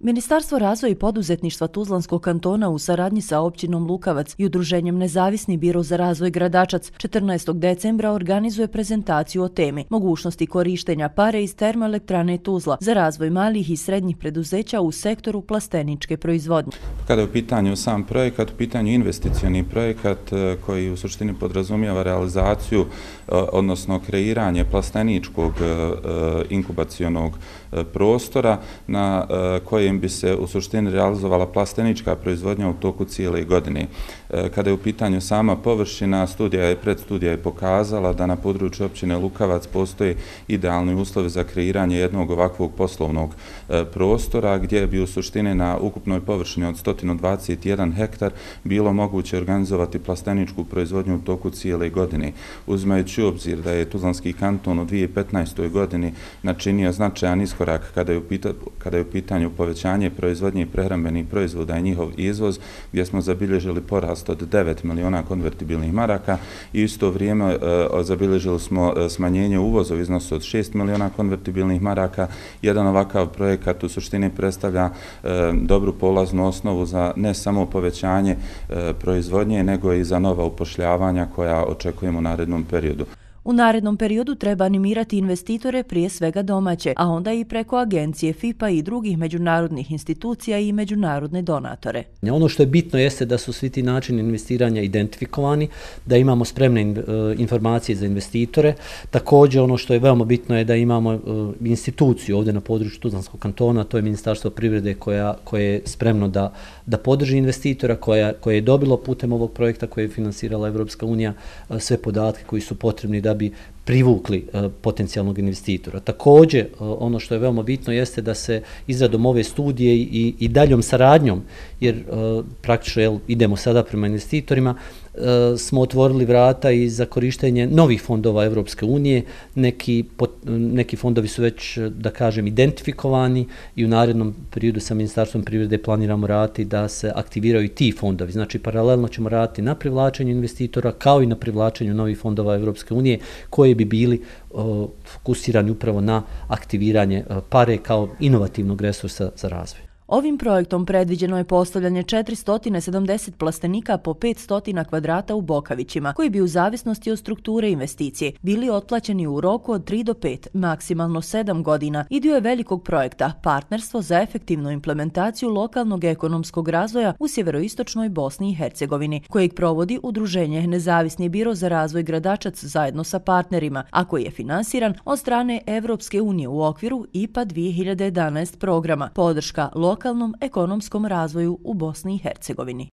Ministarstvo razvoja i poduzetništva Tuzlanskog kantona u saradnji sa općinom Lukavac i udruženjem Nezavisni biro za razvoj Gradačac 14. decembra organizuje prezentaciju o temi mogućnosti korištenja pare iz termoelektrane Tuzla za razvoj malih i srednjih preduzeća u sektoru plasteničke proizvodnje. Kada je u pitanju sam projekat, u pitanju investicioni projekat koji u suštini podrazumijeva realizaciju, odnosno kreiranje plasteničkog inkubacionog prostora na kojem bi se u suštini realizovala plastenička proizvodnja u toku cijele godine. Kada je u pitanju sama površina, predstudija je pokazala da na području općine Lukavac postoje idealni uslovi za kreiranje jednog ovakvog poslovnog prostora gdje bi u suštini na ukupnoj površini od 121 hektar bilo moguće organizovati plasteničku proizvodnju u toku cijele godine. Uzimajući u obzir da je Tuzlanski kanton u 2015. godini načinio značajan iskorak kada je u pitanju povećanje proizvodnje i prehrambenih proizvoda i njihov izvoz, gdje smo zabilježili porast od 9 miliona konvertibilnih maraka i isto vrijeme zabilježili smo smanjenje uvoza u iznosu od 6 miliona konvertibilnih maraka. Jedan ovakav projekat u suštini predstavlja dobru polaznu osnovu za ne samo povećanje proizvodnje, nego i za nova upošljavanja koja očekujemo u narednom periodu. U narednom periodu treba animirati investitore, prije svega domaće, a onda i preko agencije FIPA i drugih međunarodnih institucija i međunarodne donatore. Ono što je bitno jeste da su svi ti načini investiranja identifikovani, da imamo spremne informacije za investitore. Također ono što je veoma bitno je da imamo instituciju ovdje na području Tuzlanskog kantona, to je Ministarstvo privrede koje je spremno da podrži investitora, koje je dobilo putem ovog projekta koje je finansirala Evropska unija sve podatke koji su potrebni da bi privukli potencijalnog investitora. Također, ono što je veoma bitno jeste da se izradom ove studije i daljom saradnjom, jer praktično idemo sada prema investitorima, smo otvorili vrata i za korištenje novih fondova Evropske unije. Neki fondovi su već, da kažem, identifikovani i u narednom periodu sa Ministarstvom privrede planiramo raditi da se aktiviraju i ti fondovi. Znači, paralelno ćemo raditi na privlačenju investitora kao i na privlačenju novih fondova Evropske unije koji bi bili fokusirani upravo na aktiviranje pare kao inovativnog resursa za razvoj. Ovim projektom predviđeno je postavljanje 470 plastenika po 500 kvadrata u Bokavićima, koji bi u zavisnosti od strukture investicije bili otplaćeni u roku od 3 do 5, maksimalno 7 godina i dio je velikog projekta Partnerstvo za efektivnu implementaciju lokalnog ekonomskog razvoja u sjeveroistočnoj Bosni i Hercegovini, kojeg provodi udruženje Nezavisni biro za razvoj Gradačac zajedno sa partnerima, a koji je finansiran od strane Evropske unije u okviru IPA 2011 programa, podrška lokalnom ekonomskom razvoju u Bosni i Hercegovini.